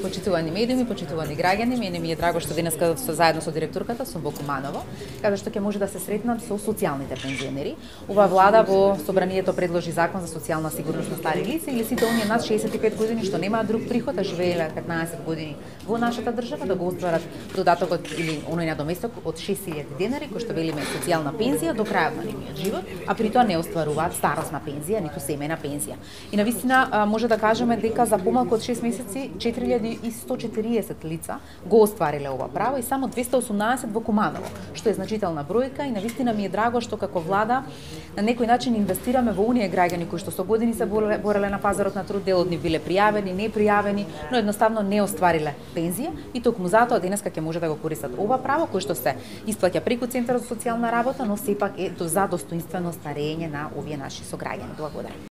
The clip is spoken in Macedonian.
Почитувани медиуми, почитувани граѓани, мене ми е драго што денеска заедно со директорката сум во Куманово, каде што ќе може да се сретнам со социјалните пензионери. Ова влада во собранието предложи закон за социјална сигурност на стари лица или сите оние над 65 години што немаат друг приход, а живееле 15 години во нашата држава да го остварат додатокот или оној надоместок од 6000 денари кој што велиме социјална пензија до крајот на нивниот живот, а при тоа не остваруваат старосна пензија, ниту семејна пензија. И навистина може да кажеме дека за помалку од 6 месеци 4140 лица го оствариле ова право и само 218 во Куманово, што е значителна бројка и навистина ми е драго што како влада на некој начин инвестираме во оние граѓани кои што со години се бореле на пазарот на труд, дел од нив биле пријавени, непријавени, но едноставно не оствариле пензија и токму затоа денеска ќе може да го користат ова право кој што се исплаќа преку Центарот за социјална работа, но сепак е за достоинствено старење на овие наши сограѓани. Благодарам.